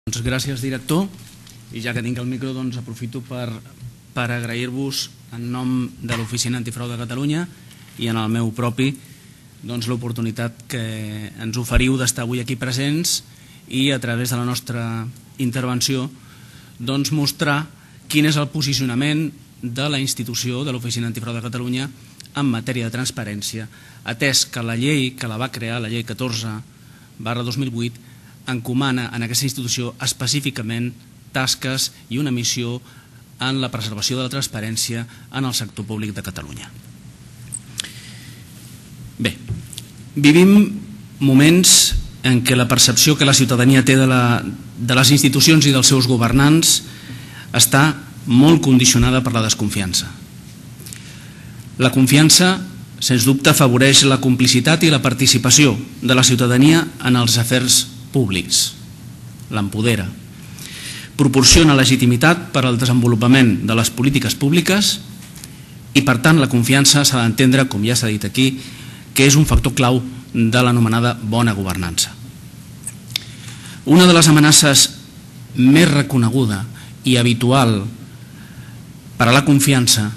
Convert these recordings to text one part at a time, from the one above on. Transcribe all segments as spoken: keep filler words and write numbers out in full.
Doncs gràcies, director, i ja que tinc el micro doncs aprofito per, per agrair-vos en nom de l'Oficina Antifrau de Catalunya i en el meu propi doncs, l'oportunitat que ens oferiu d'estar avui aquí presents i a través de la nostra intervenció doncs, mostrar quin és el posicionament de la institució de l'Oficina Antifrau de Catalunya en matèria de transparència, atès que la llei que la va crear, la llei catorze barra dos mil vuit, encomana en aquesta institució específicament tasques i una missió en la preservació de la transparència en el sector públic de Catalunya. Bé, vivim moments en què la percepció que la ciutadania té de, la, de les institucions i dels seus governants està molt condicionada per la desconfiança. La confiança, sens dubte, afavoreix la complicitat i la participació de la ciutadania en els afers públics, l'empodera, proporciona legitimitat per al desenvolupament de les polítiques públiques i, per tant, la confiança s'ha d'entendre, com ja s'ha dit aquí, que és un factor clau de l'anomenada bona governança. Una de les amenaces més reconeguda i habitual per a la confiança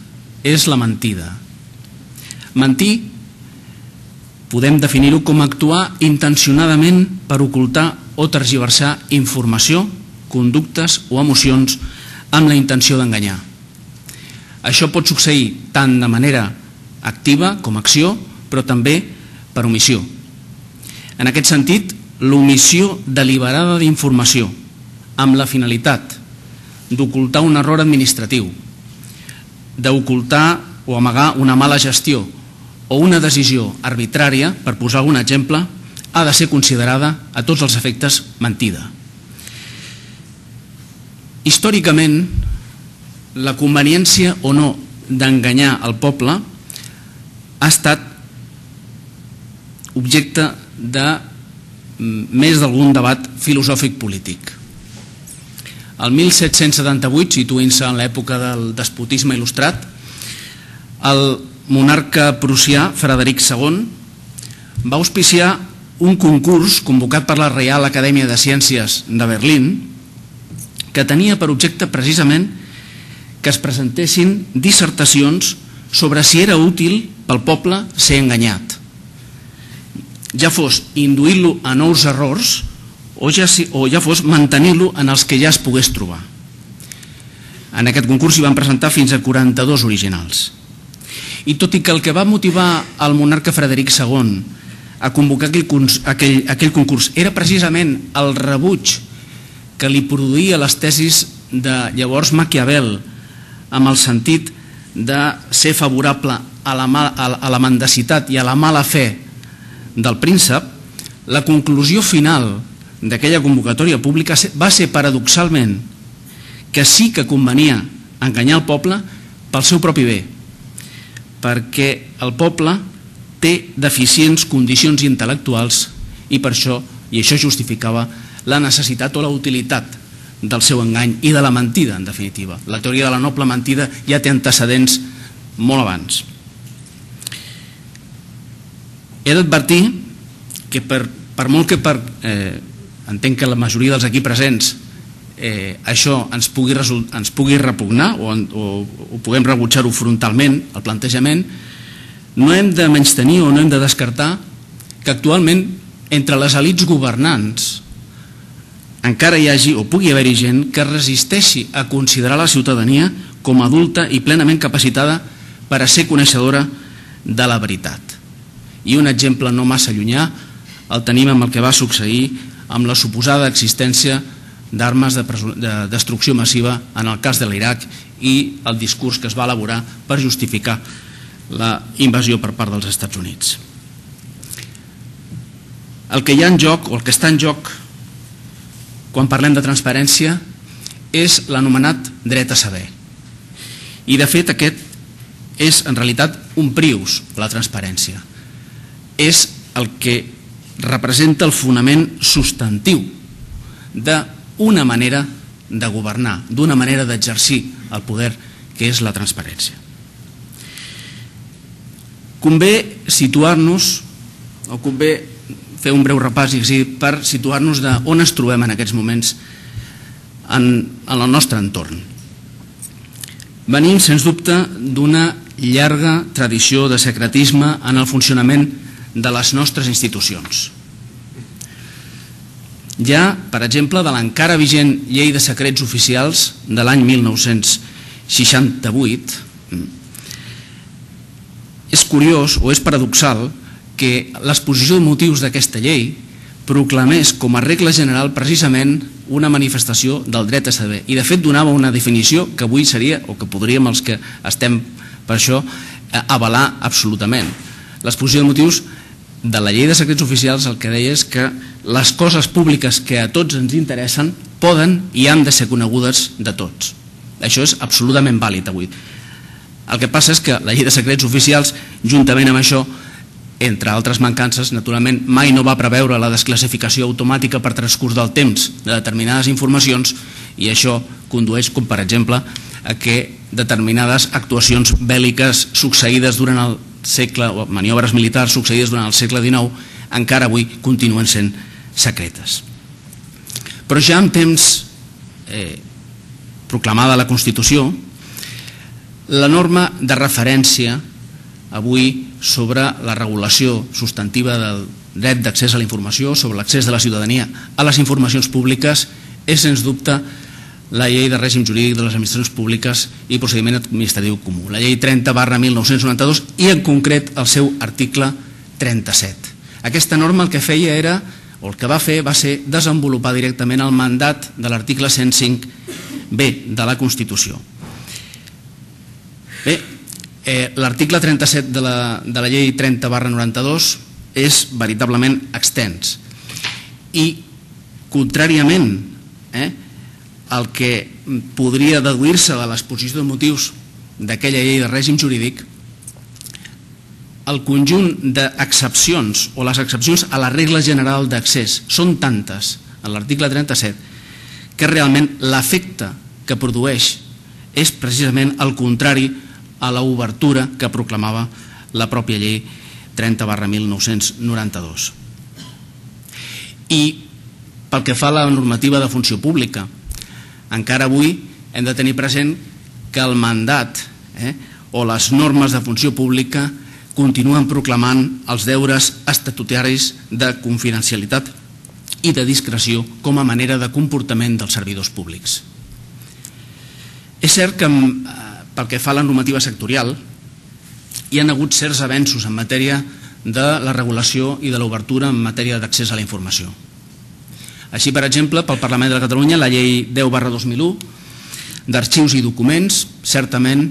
és la mentida. Mentir podem definir-ho com actuar intencionadament per ocultar o tergiversar informació, conductes o emocions amb la intenció d'enganyar. Això pot succeir tant de manera activa com acció, però també per omissió. En aquest sentit, l'omissió deliberada d'informació amb la finalitat d'ocultar un error administratiu, d'ocultar o amagar una mala gestió o una decisió arbitrària, per posar algun exemple, ha de ser considerada a tots els efectes mentida. Històricament, la conveniència o no d'enganyar el poble ha estat objecte de més d'algun debat filosòfic polític. El mil set-cents setanta-vuit, situint-se en l'època del despotisme il·lustrat, el monarca prussià Frederic segon va auspiciar un concurs convocat per la Reial Acadèmia de Ciències de Berlín que tenia per objecte precisament que es presentessin dissertacions sobre si era útil pel poble ser enganyat, ja fos induint-lo a nous errors o ja, o ja fos mantenir-lo en els que ja es pogués trobar. En aquest concurs s'hi van presentar fins a quaranta-dos originals. I tot i que el que va motivar el monarca Frederic segon a convocar aquell, aquell concurs era precisament el rebuig que li produïa les tesis de llavors Maquiavel amb el sentit de ser favorable a la, a la mendicitat i a la mala fe del príncep, la conclusió final d'aquella convocatòria pública va ser paradoxalment que sí que convenia enganyar el poble pel seu propi bé, perquè el poble té deficients condicions intel·lectuals i per això, i això justificava la necessitat o la utilitat del seu engany i de la mentida, en definitiva. La teoria de la noble mentida ja té antecedents molt abans. He d'advertir que per, per molt que per, eh, entenc que la majoria dels aquí presents eh, això ens pugui, ens pugui repugnar o, o, o puguem rebutjar-ho frontalment, el plantejament, no hem de menystenir o no hem de descartar que actualment entre les elits governants encara hi hagi o pugui haver-hi gent que resisteixi a considerar la ciutadania com a adulta i plenament capacitada per a ser coneixedora de la veritat. I un exemple no massa llunyà el tenim amb el que va succeir amb la suposada existència d'armes de, de destrucció massiva en el cas de l'Iraq i el discurs que es va elaborar per justificar la invasió per part dels Estats Units. El que hi ha en joc, o el que està en joc, quan parlem de transparència, és l'anomenat dret a saber. I, de fet, aquest és, en realitat, un prius, la transparència. És el que representa el fonament substantiu d'una manera de governar, d'una manera d'exercir el poder, que és la transparència. Convé situar-nos, o convé fer un breu repàs per situar-nos d'on ens trobem en aquests moments en el nostre entorn. Venim, sens dubte, d'una llarga tradició de secretisme en el funcionament de les nostres institucions. Hi ha, per exemple, de l'encara vigent Llei de Secrets Oficials de l'any mil nou-cents seixanta-vuit, és curiós o és paradoxal que l'exposició de motius d'aquesta llei proclamés com a regla general precisament una manifestació del dret a saber i de fet donava una definició que avui seria, o que podríem els que estem per això, avalar absolutament. L'exposició de motius de la Llei de Secrets Oficials el que deia és que les coses públiques que a tots ens interessen poden i han de ser conegudes de tots. Això és absolutament vàlid avui. El que passa és que la Llei de Secrets Oficials, juntament amb això, entre altres mancances, naturalment, mai no va preveure la desclassificació automàtica per transcurs del temps de determinades informacions i això condueix, com per exemple, a que determinades actuacions bèl·liques succeïdes durant el segle, o maniobres militars succeïdes durant el segle dinou, encara avui continuen sent secretes. Però ja en temps eh, proclamada la Constitució, la norma de referència avui sobre la regulació substantiva del dret d'accés a la informació, sobre l'accés de la ciutadania a les informacions públiques, és sens dubte la Llei de Règim Jurídic de les Administracions Públiques i Procediment Administratiu Comú, la Llei trenta barra mil nou-cents noranta-dos i en concret el seu article trenta-set. Aquesta norma el que feia era, o el que va fer, va ser desenvolupar directament el mandat de l'article cent cinc B de la Constitució. Bé, eh, l'article trenta-set de la, de la llei trenta barra noranta-dos és veritablement extens i contràriament eh, el que podria deduir-se de l'exposició de motius d'aquella llei de règim jurídic, el conjunt d'excepcions o les excepcions a la regla general d'accés són tantes en l'article trenta-set que realment l'efecte que produeix és precisament el contrari a l'obertura que proclamava la pròpia llei trenta barra mil nou-cents noranta-dos. I pel que fa a la normativa de funció pública, encara avui hem de tenir present que el mandat eh, o les normes de funció pública continuen proclamant els deures estatutaris de confidencialitat i de discreció com a manera de comportament dels servidors públics. És cert que pel que fa a la normativa sectorial hi ha hagut certs avenços en matèria de la regulació i de l'obertura en matèria d'accés a la informació. Així, per exemple, pel Parlament de Catalunya, la llei deu barra dos mil u d'arxius i documents certament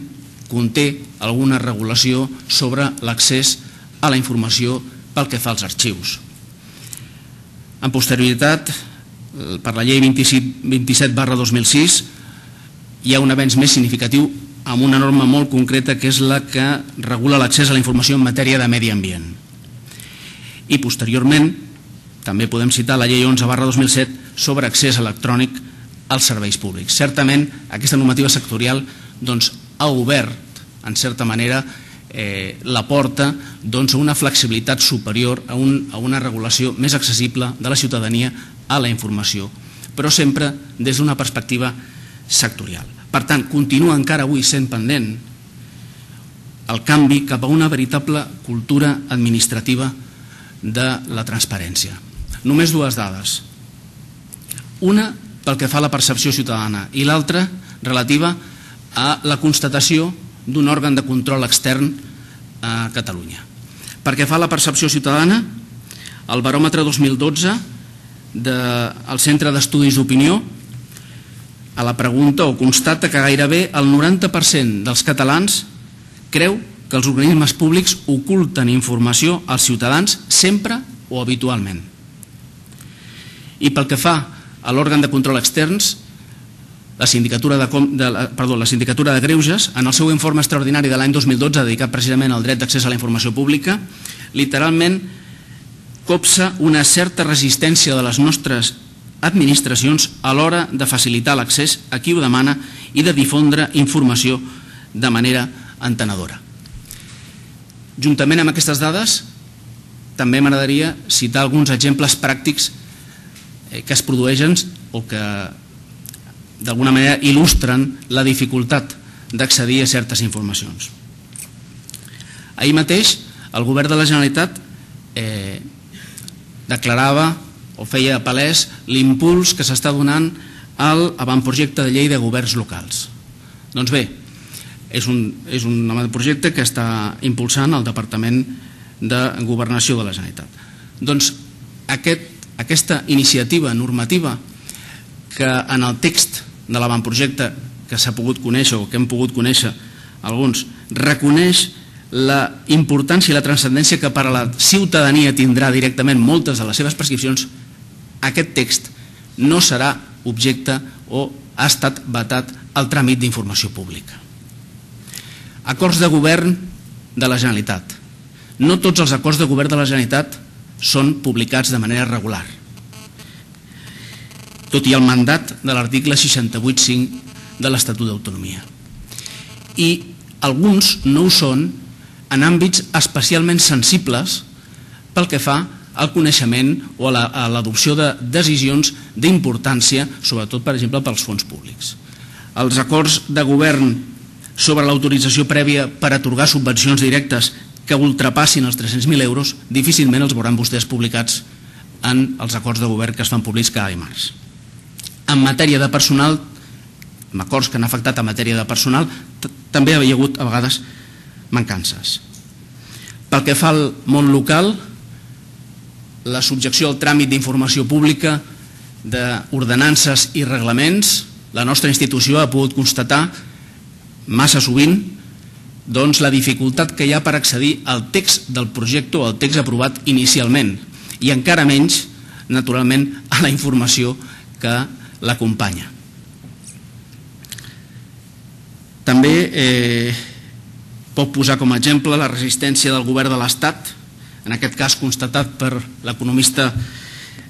conté alguna regulació sobre l'accés a la informació pel que fa als arxius. En posterioritat, per la llei vint-i-set barra dos mil sis, hi ha un avenç més significatiu amb una norma molt concreta que és la que regula l'accés a la informació en matèria de medi ambient. I posteriorment, també podem citar la llei onze barra dos mil set sobre accés electrònic als serveis públics. Certament, aquesta normativa sectorial doncs, ha obert, en certa manera, eh, la porta doncs, a una flexibilitat superior, a, un, a una regulació més accessible de la ciutadania a la informació, però sempre des d'una perspectiva sectorial. Per tant, continua encara avui sent pendent el canvi cap a una veritable cultura administrativa de la transparència. Només dues dades. Una pel que fa a la percepció ciutadana i l'altra relativa a la constatació d'un òrgan de control extern a Catalunya. Perquè fa a la percepció ciutadana, el baròmetre dos mil dotze del Centre d'Estudis d'Opinió a la pregunta o constata que gairebé el noranta per cent dels catalans creu que els organismes públics oculten informació als ciutadans sempre o habitualment. I pel que fa a l'òrgan de control externs, la Sindicatura de, de, perdó, la Sindicatura de Greuges, en el seu informe extraordinari de l'any dos mil dotze dedicat precisament al dret d'accés a la informació pública, literalment copsa una certa resistència de les nostres administracions a l'hora de facilitar l'accés a qui ho demana i de difondre informació de manera entenedora. Juntament amb aquestes dades, també m'agradaria citar alguns exemples pràctics que es produeixen o que d'alguna manera il·lustren la dificultat d'accedir a certes informacions. Ahir mateix el govern de la Generalitat eh, declarava o feia palès l'impuls que s'està donant a l'avantprojecte de llei de governs locals. Doncs bé, és un, és un avantprojecte que està impulsant el Departament de Governació de la Generalitat. Doncs aquest, aquesta iniciativa normativa que en el text de l'avantprojecte que s'ha pogut conèixer o que hem pogut conèixer alguns, reconeix la importància i la transcendència que per a la ciutadania tindrà directament moltes de les seves prescripcions, aquest text no serà objecte o ha estat vetat al tràmit d'informació pública. Acords de govern de la Generalitat. No tots els acords de govern de la Generalitat són publicats de manera regular, tot i el mandat de l'article seixanta-vuit punt cinc de l'Estatut d'Autonomia. I alguns no ho són en àmbits especialment sensibles pel que fa al coneixement o a l'adopció de decisions d'importància, sobretot, per exemple, pels fons públics. Els acords de govern sobre l'autorització prèvia per atorgar subvencions directes que ultrapassin els tres-cents mil euros difícilment els veuran vostès publicats en els acords de govern que es fan públics cada dimarts. En matèria de personal, amb acords que han afectat en matèria de personal, també hi ha hagut a vegades mancances. Pel que fa al món local, la subjecció al tràmit d'informació pública d'ordenances i reglaments, la nostra institució ha pogut constatar massa sovint doncs, la dificultat que hi ha per accedir al text del projecte o al text aprovat inicialment i encara menys, naturalment, a la informació que l'acompanya. També eh, pot posar com a exemple la resistència del govern de l'Estat, en aquest cas constatat per l'economista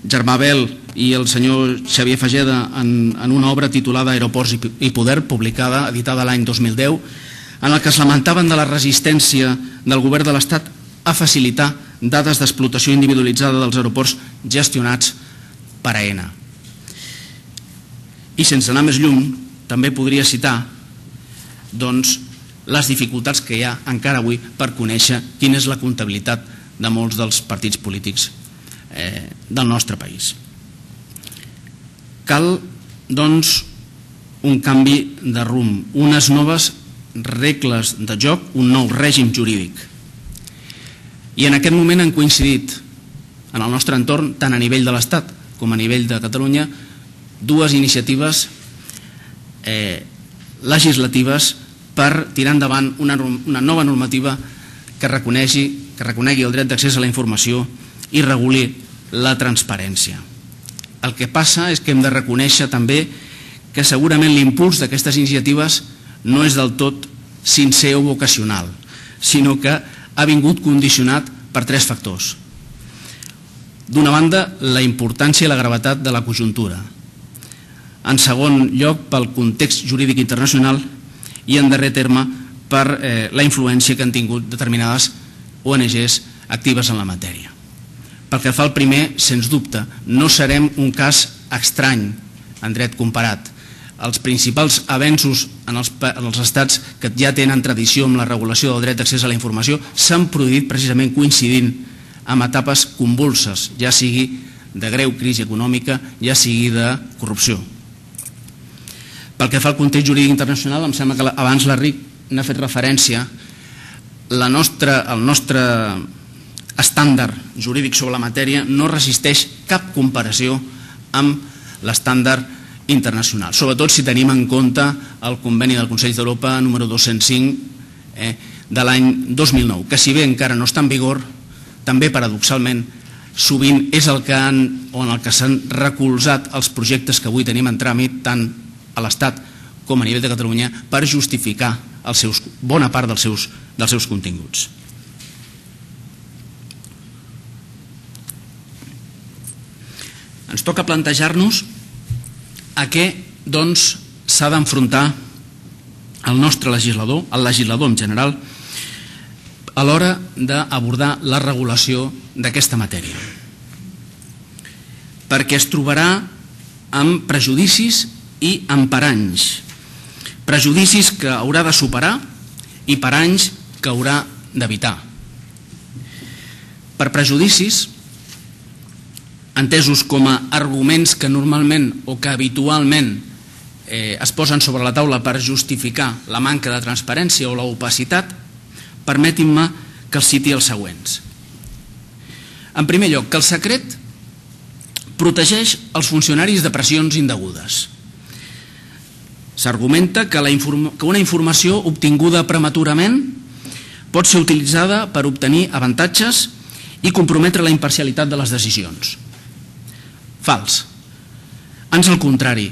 Germà Bel i el senyor Xavier Fageda en, en una obra titulada Aeroports i Poder, publicada, editada l'any dos mil deu, en el que es lamentaven de la resistència del govern de l'Estat a facilitar dades d'explotació individualitzada dels aeroports gestionats per AENA. I sense anar més lluny, també podria citar doncs, les dificultats que hi ha encara avui per conèixer quina és la comptabilitat de molts dels partits polítics eh, del nostre país. Cal, doncs, un canvi de rumb, unes noves regles de joc, un nou règim jurídic. I en aquest moment han coincidit en el nostre entorn, tant a nivell de l'Estat com a nivell de Catalunya, dues iniciatives eh, legislatives per tirar endavant una, una nova normativa que reconegui, que reconegui el dret d'accés a la informació i reguli la transparència. El que passa és que hem de reconèixer també que segurament l'impuls d'aquestes iniciatives no és del tot sincer o vocacional, sinó que ha vingut condicionat per tres factors. D'una banda, la importància i la gravetat de la conjuntura. En segon lloc, pel context jurídic internacional i, en darrer terme, per eh, la influència que han tingut determinades O N Ges actives en la matèria. Pel que fa al primer, sens dubte, no serem un cas estrany en dret comparat. Els principals avenços en els, en els estats que ja tenen tradició amb la regulació del dret d'accés a la informació s'han produït precisament coincidint amb etapes convulses, ja sigui de greu crisi econòmica, ja sigui de corrupció. Pel que fa al context jurídic internacional, em sembla que abans l'Enric n'ha fet referència, la nostra, el nostre estàndard jurídic sobre la matèria no resisteix cap comparació amb l'estàndard internacional, sobretot si tenim en compte el conveni del Consell d'Europa número dos-cents cinc eh, de l'any dos mil nou, que si bé encara no està en vigor, també paradoxalment sovint és el que han, o en el que s'han recolzat els projectes que avui tenim en tràmit tant a l'Estat com a nivell de Catalunya per justificar els seus, bona part dels seus, dels seus continguts. Ens toca plantejar-nos a què doncs, s'ha d'enfrontar el nostre legislador, el legislador en general, a l'hora d'abordar la regulació d'aquesta matèria. Perquè es trobarà amb prejudicis i en paranys. Prejudicis que haurà de superar i paranys que haurà d'evitar. Per prejudicis, entesos com a arguments que normalment o que habitualment eh, es posen sobre la taula per justificar la manca de transparència o l'opacitat, permetin-me que els citi els següents. En primer lloc, que el secret protegeix els funcionaris de pressions indegudes. S'argumenta que, la inform- que una informació obtinguda prematurament pot ser utilitzada per obtenir avantatges i comprometre la imparcialitat de les decisions. Fals. Ans al contrari,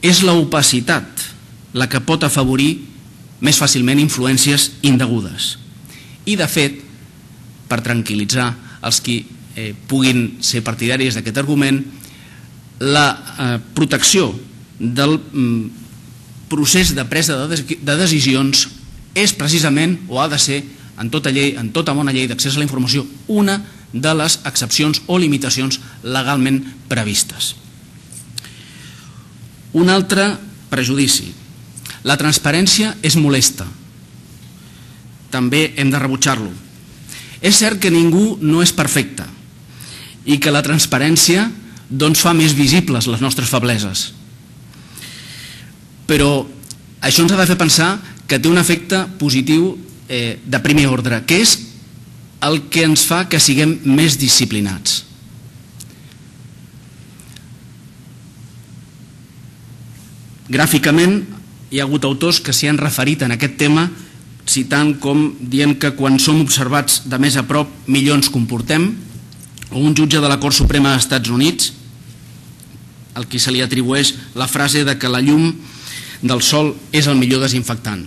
és l'opacitat la que pot afavorir més fàcilment influències indegudes. I, de fet, per tranquil·litzar els qui eh, puguin ser partidaris d'aquest argument, la eh, protecció del mm, procés de presa de, des de decisions és precisament, o ha de ser, en tota llei, en tota bona llei d'accés a la informació, una de les excepcions o limitacions legalment previstes. Un altre prejudici. La transparència és molesta. També hem de rebutjar-lo. És cert que ningú no és perfecte i que la transparència doncs, fa més visibles les nostres febleses. Però això ens ha de fer pensar que té un efecte positiu eh, de primer ordre, que és el que ens fa que siguem més disciplinats. Gràficament, hi ha hagut autors que s'hi han referit en aquest tema, citant com dient que quan som observats de més a prop millor ens comportem, o un jutge de la Cort Suprema dels Estats Units, al qui se li atribueix la frase de que la llum del sol és el millor desinfectant.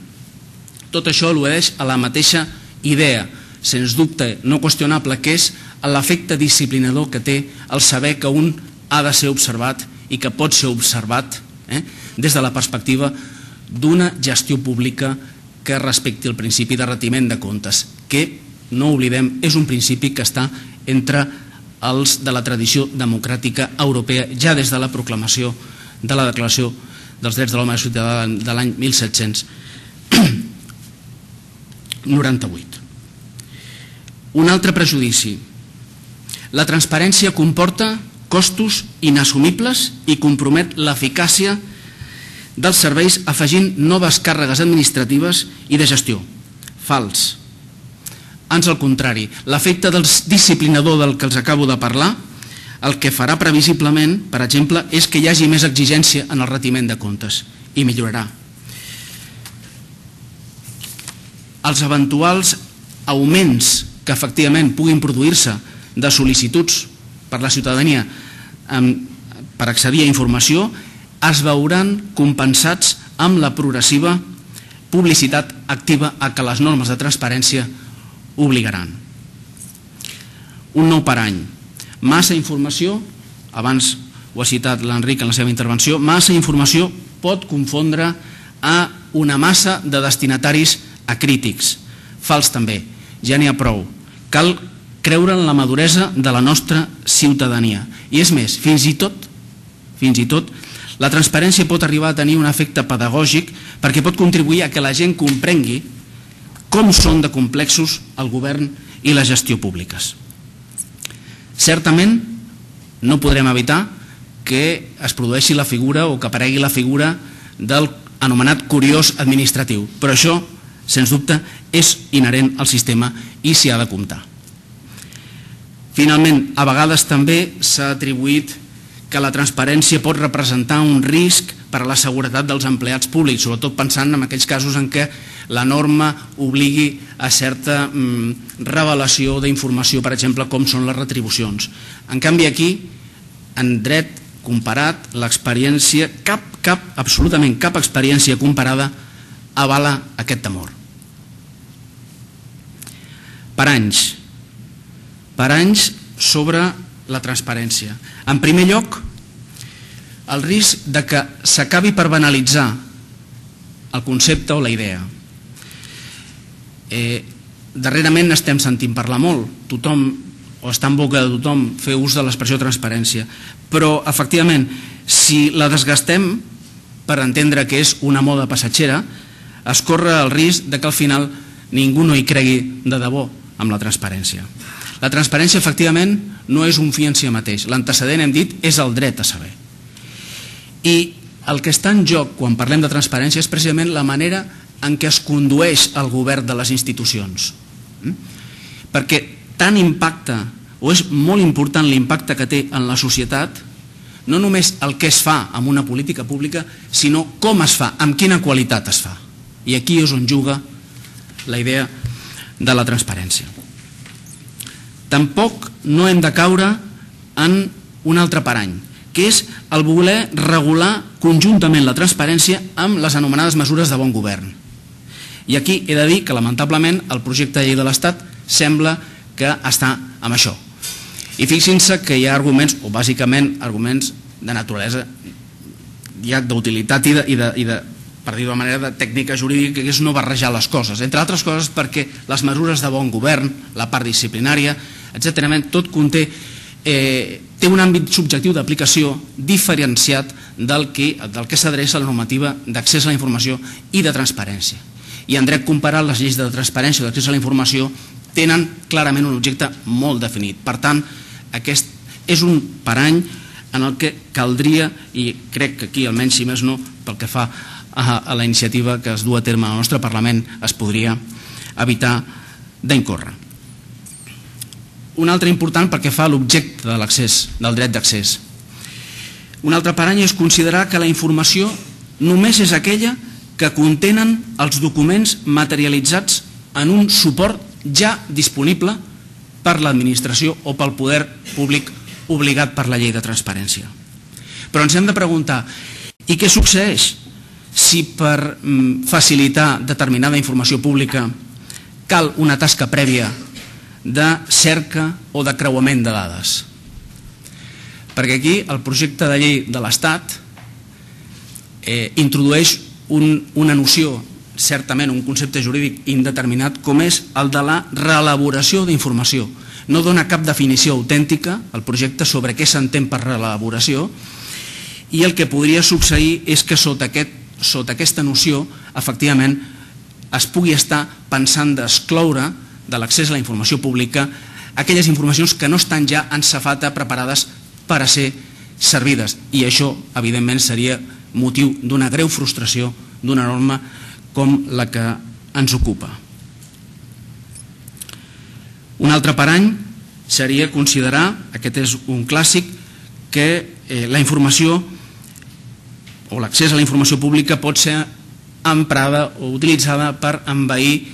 Tot això al·ludeix a la mateixa idea, sens dubte no qüestionable, que és l'efecte disciplinador que té el saber que un ha de ser observat i que pot ser observat eh, des de la perspectiva d'una gestió pública que respecti el principi de retiment de comptes, que, no oblidem, és un principi que està entre els de la tradició democràtica europea ja des de la proclamació de la Declaració dels Drets de l'Home i Ciutadà de l'any mil set-cents noranta-vuit. Un altre prejudici. La transparència comporta costos inassumibles i compromet l'eficàcia dels serveis afegint noves càrregues administratives i de gestió. Fals. Ans al contrari, l'efecte del disciplinador del que els acabo de parlar, el que farà previsiblement, per exemple, és que hi hagi més exigència en el retiment de comptes i millorarà. Els eventuals augments que efectivament puguin produir-se de sol·licituds per la ciutadania per accedir a informació es veuran compensats amb la progressiva publicitat activa a que les normes de transparència obligaran. Un nou parany. Massa informació, abans ho ha citat l'Enric en la seva intervenció, massa informació pot confondre a una massa de destinataris acrítics. Fals també, ja n'hi ha prou. Cal creure en la maduresa de la nostra ciutadania. I és més, fins i tot, fins i tot, la transparència pot arribar a tenir un efecte pedagògic perquè pot contribuir a que la gent comprengui com són de complexos el govern i la gestió públiques. Certament no podrem evitar que es produeixi la figura o que aparegui la figura del anomenat curiós administratiu, però això, sens dubte, és inherent al sistema i s'hi ha de comptar. Finalment, a vegades també s'ha atribuït que la transparència pot representar un risc per a la seguretat dels empleats públics, sobretot pensant en aquells casos en què la norma obligui a certa mm, revelació d'informació, per exemple, com són les retribucions. En canvi, aquí, en dret comparat, l'experiència, cap, cap, absolutament cap experiència comparada avala aquest temor. Per anys, per anys sobre la transparència. En primer lloc, el risc de que s'acabi per banalitzar el concepte o la idea. Eh, darrerament estem sentint parlar molt, tothom, o està en boca de tothom, fer ús de l'expressió transparència, però efectivament, si la desgastem, per entendre que és una moda passatgera, es corre el risc de que al final ningú no hi cregui de debò amb la transparència. La transparència, efectivament, no és un fi en si mateix. L'antecedent, hem dit, és el dret a saber. I el que està en joc quan parlem de transparència és precisament la manera en què es condueix el govern de les institucions. Perquè tant impacta, o és molt important l'impacte que té en la societat, no només el que es fa amb una política pública, sinó com es fa, amb quina qualitat es fa. I aquí és on juga la idea de la transparència. Tampoc no hem de caure en un altre parany, que és el voler regular conjuntament la transparència amb les anomenades mesures de bon govern. I aquí he de dir que, lamentablement, el projecte de llei de l'Estat sembla que està amb això. I fixin-se que hi ha arguments, o bàsicament arguments de naturalesa, ja d'utilitat i de, i de, i de per dir-ho de manera de tècnica jurídica, que és no barrejar les coses. Entre altres coses perquè les mesures de bon govern, la part disciplinària, etcètera, tot conté, eh, té un àmbit subjectiu d'aplicació diferenciat del que, del que s'adreça a la normativa d'accés a la informació i de transparència. I en dret comparat, les lleis de transparència i d'accés a la informació tenen clarament un objecte molt definit. Per tant, aquest és un parany en el que caldria, i crec que aquí, almenys si més no, pel que fa a la iniciativa que es du a terme al nostre Parlament, es podria evitar d'incórrer. Un altre important perquè fa l'objecte de l'accés, del dret d'accés. Un altre parany és considerar que la informació només és aquella que contenen els documents materialitzats en un suport ja disponible per l'administració o pel poder públic obligat per la llei de transparència. Però ens hem de preguntar, i què succeeix si per facilitar determinada informació pública cal una tasca prèvia de cerca o de creuament de dades? Perquè aquí el projecte de llei de l'Estat eh, introdueix un, una noció, certament un concepte jurídic indeterminat, com és el de la reelaboració d'informació. No dona cap definició autèntica al projecte sobre què s'entén per reelaboració, i el que podria succeir és que sota aquest sota aquesta noció, efectivament, es pugui estar pensant d'excloure de l'accés a la informació pública aquelles informacions que no estan ja en safata preparades per a ser servides. I això, evidentment, seria motiu d'una greu frustració d'una norma com la que ens ocupa. Un altre parany seria considerar, aquest és un clàssic, que eh, la informació o l'accés a la informació pública pot ser emprada o utilitzada per envair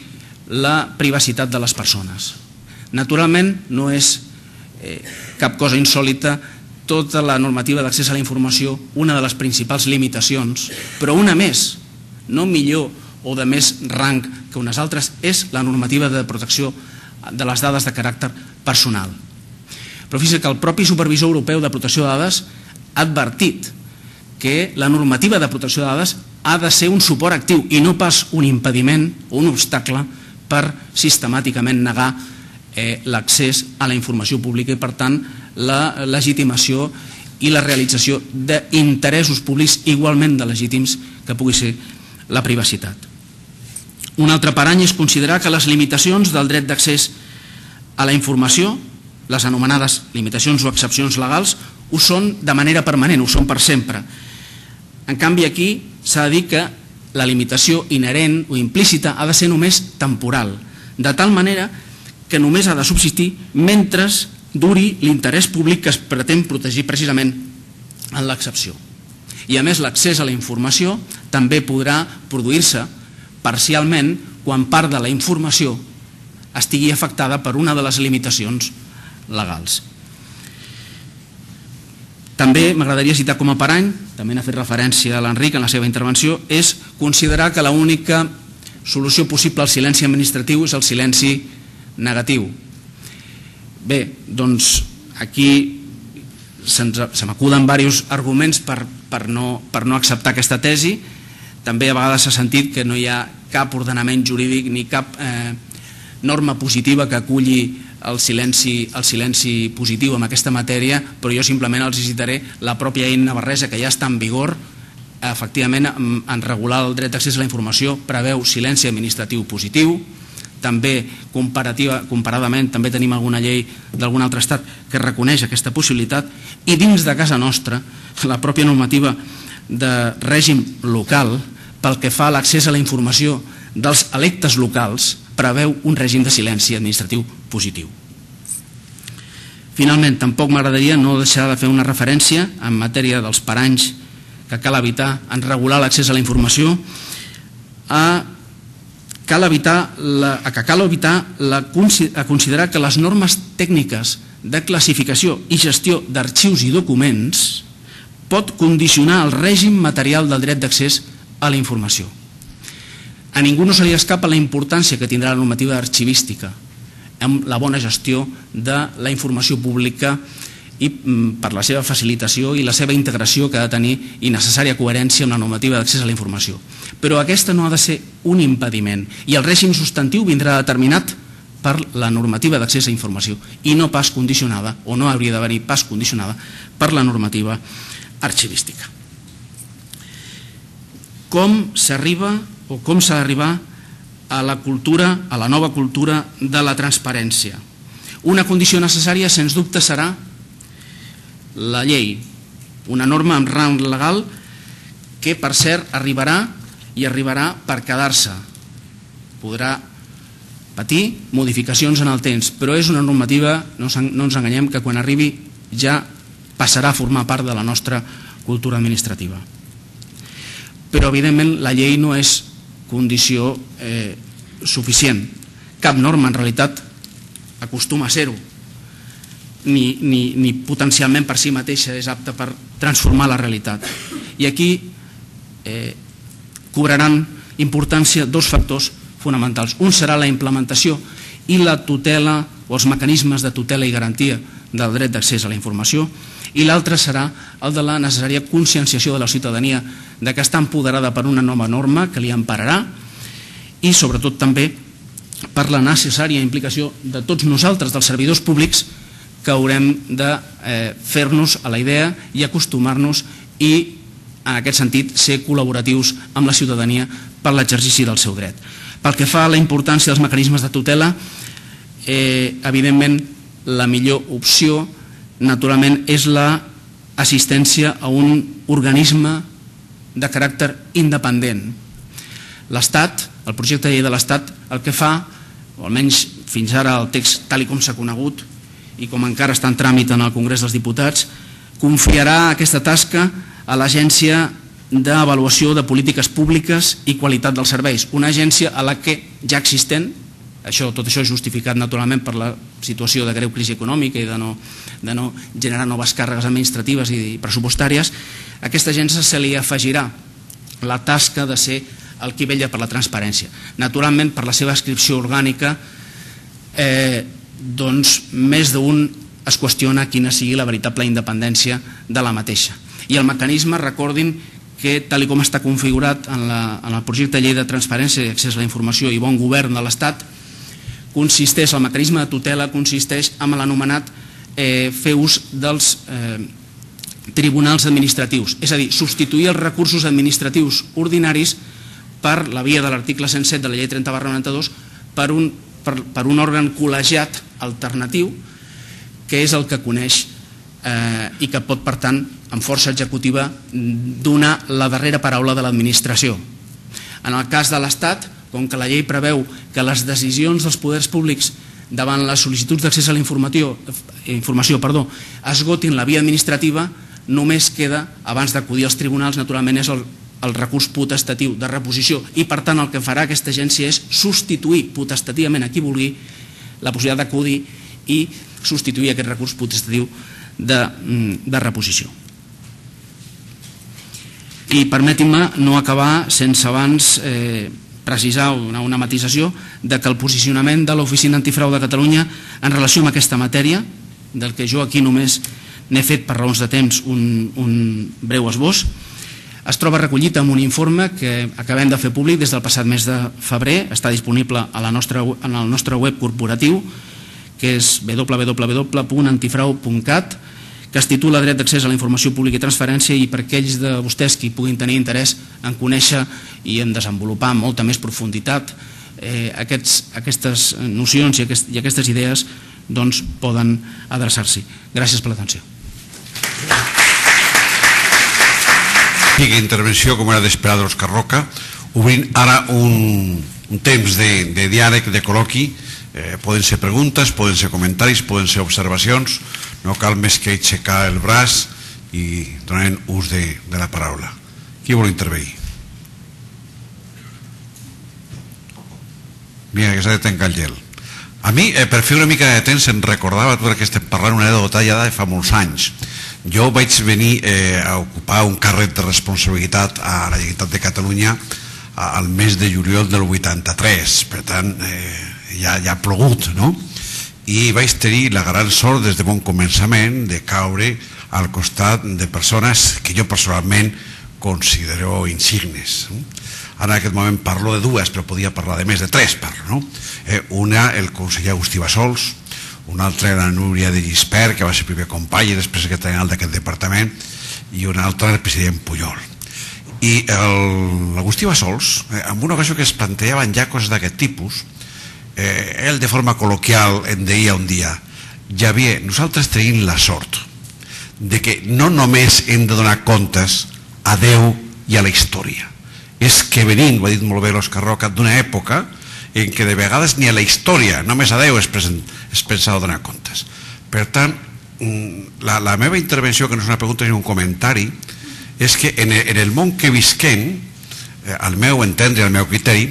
la privacitat de les persones. Naturalment, no és eh, cap cosa insòlita tota la normativa d'accés a la informació, una de les principals limitacions, però una més, no millor o de més rang que unes altres, és la normativa de protecció de les dades de caràcter personal. Però fixa't que el propi supervisor europeu de protecció de dades ha advertit que la normativa de protecció de dades ha de ser un suport actiu i no pas un impediment o un obstacle per sistemàticament negar eh, l'accés a la informació pública i, per tant, la legitimació i la realització d'interessos públics igualment de legítims que pugui ser la privacitat. Un altre parany és considerar que les limitacions del dret d'accés a la informació, les anomenades limitacions o excepcions legals, ho són de manera permanent, ho són per sempre. En canvi, aquí s'ha de dir que la limitació inherent o implícita ha de ser només temporal, de tal manera que només ha de subsistir mentre duri l'interès públic que es pretén protegir precisament en l'excepció. I a més, l'accés a la informació també podrà produir-se parcialment quan part de la informació estigui afectada per una de les limitacions legals. També m'agradaria citar com a parany, també n'ha fet referència a l'Enric en la seva intervenció, és considerar que l'única solució possible al silenci administratiu és el silenci negatiu. Bé, doncs aquí se m'acuden diversos arguments per, per, no, per no acceptar aquesta tesi. També a vegades s'ha sentit que no hi ha cap ordenament jurídic ni cap eh, norma positiva que aculli el silenci, el silenci positiu en aquesta matèria, però jo simplement els citaré la pròpia llei navarresa que ja està en vigor efectivament, en regular el dret d'accés a la informació preveu silenci administratiu positiu. També, comparadament, també tenim alguna llei d'algun altre estat que reconeix aquesta possibilitat, i dins de casa nostra, la pròpia normativa de règim local, pel que fa a l'accés a la informació dels electes locals, preveu un règim de silenci administratiu positiu. Finalment, tampoc m'agradaria no deixar de fer una referència en matèria dels paranys que cal evitar en regular l'accés a la informació, a cal evitar, la, que cal evitar la, a considerar que les normes tècniques de classificació i gestió d'arxius i documents pot condicionar el règim material del dret d'accés a la informació. A ningú no se li escapa la importància que tindrà la normativa arxivística amb la bona gestió de la informació pública i per la seva facilitació i la seva integració que ha de tenir i necessària coherència amb la normativa d'accés a la informació. Però aquesta no ha de ser un impediment i el règim substantiu vindrà determinat per la normativa d'accés a la informació i no pas condicionada, o no hauria d'haver-hi pas condicionada, per la normativa arxivística. Com s'arriba o com s'ha d'arribar a la cultura, a la nova cultura de la transparència? Una condició necessària, sens dubte, serà la llei, una norma amb rang legal que, per cert, arribarà i arribarà per quedar-se. Podrà patir modificacions en el temps, però és una normativa, no ens enganyem, que quan arribi ja passarà a formar part de la nostra cultura administrativa. Però, evidentment, la llei no és condició eh, suficient. Cap norma, en realitat, acostuma a ser-ho. Ni, ni, ni potencialment per si mateixa és apta per transformar la realitat. I aquí eh, cobraran importància dos factors fonamentals. Un serà la implementació i la tutela o els mecanismes de tutela i garantia del dret d'accés a la informació, i l'altre serà el de la necessària conscienciació de la ciutadania de que està empoderada per una nova norma que li empararà i sobretot també per la necessària implicació de tots nosaltres, dels servidors públics, que haurem de eh, fer-nos a la idea i acostumar-nos i, en aquest sentit, ser col·laboratius amb la ciutadania per l'exercici del seu dret. Pel que fa a la importància dels mecanismes de tutela, eh, evidentment, la millor opció, naturalment, és l'assistència a un organisme de caràcter independent. L'Estat, el projecte de llei de l'Estat, el que fa, o almenys fins ara el text tal com s'ha conegut, i com encara està en tràmit en el Congrés dels Diputats, confiarà aquesta tasca a l'Agència d'Avaluació de Polítiques Públiques i Qualitat dels Serveis, una agència a la que ja existent, això, tot això és justificat naturalment per la situació de greu crisi econòmica i de no, de no generar noves càrregues administratives i pressupostàries, a aquesta agència se li afegirà la tasca de ser el qui vetlla per la transparència. Naturalment, per la seva inscripció orgànica, eh, doncs més d'un es qüestiona quina sigui la veritable independència de la mateixa. I el mecanisme, recordin que tal com està configurat en, la, en el projecte de llei de transparència i accés a la informació i bon govern de l'Estat, consisteix, el mecanisme de tutela consisteix en l'anomenat eh, fer ús dels eh, tribunals administratius, és a dir, substituir els recursos administratius ordinaris per la via de l'article cent set de la llei trenta barra noranta-dos per un Per, per un òrgan col·legiat alternatiu que és el que coneix eh, i que pot, per tant, amb força executiva, donar la darrera paraula de l'administració. En el cas de l'Estat, com que la llei preveu que les decisions dels poders públics davant les sol·licituds d'accés a la informació, informació perdó, esgotin la via administrativa, només queda, abans d'acudir als tribunals, naturalment és el el recurs potestatiu de reposició i, per tant, el que farà aquesta agència és substituir potestativament a qui vulgui la possibilitat d'acudir i substituir aquest recurs potestatiu de, de reposició. I permetin-me no acabar sense abans eh, precisar una, una matisació de que el posicionament de l'Oficina Antifrau de Catalunya en relació amb aquesta matèria, del que jo aquí només n'he fet per raons de temps un, un breu esbós, es troba recollit en un informe que acabem de fer públic des del passat mes de febrer, està disponible a la nostra, en el nostre web corporatiu, que és w w w punt antifrau punt cat, que es titula Dret d'accés a la informació pública i transferència, i per aquells de vostès que hi puguin tenir interès en conèixer i en desenvolupar amb molta més profunditat eh, aquests, aquestes nocions i, aquest, i aquestes idees, doncs poden adreçar-s'hi. Gràcies per l'atenció. Intervenció, com era d'esperar, d'Òscar Roca, obrint ara un, un temps de, de diàleg, de col·loqui. Eh, poden ser preguntes, poden ser comentaris, poden ser observacions, no cal més que aixecar el braç i donar ús de, de la paraula. Qui vol intervenir? Mira, que s'ha de tancar el gel. A mi, eh, per fer una mica de temps, em recordava tot el que estem parlant, una anècdota ja de fa molts anys. Jo vaig venir eh, a ocupar un càrrec de responsabilitat a la Generalitat de Catalunya al mes de juliol del vuitanta-tres, per tant eh, ja, ja ha plogut, no? I vaig tenir la gran sort des de bon començament de caure al costat de persones que jo personalment considero insignes. Ara en aquest moment parlo de dues, però podia parlar de més de tres, parlo, no? Eh, una, el conseller Agustí Bassols, una altra la Núria de Gispert, que va ser primer company i després secretari general d'aquest departament, i una altra el president Pujol. I l'Agustí Bassols, eh, en una ocasió que es plantejaven ja coses d'aquest tipus, eh, ell de forma col·loquial em deia un dia: Javier, nosaltres tenim la sort de que no només hem de donar comptes a Déu i a la història, és que venim, ho ha dit molt bé l'Òscar Roca, d'una època en què de vegades ni a la història, només a Déu es, present, es pensava donar comptes. Per tant, la, la meva intervenció, que no és una pregunta ni un comentari, és que en el, en el món que visquem, eh, al meu entendre, al meu criteri,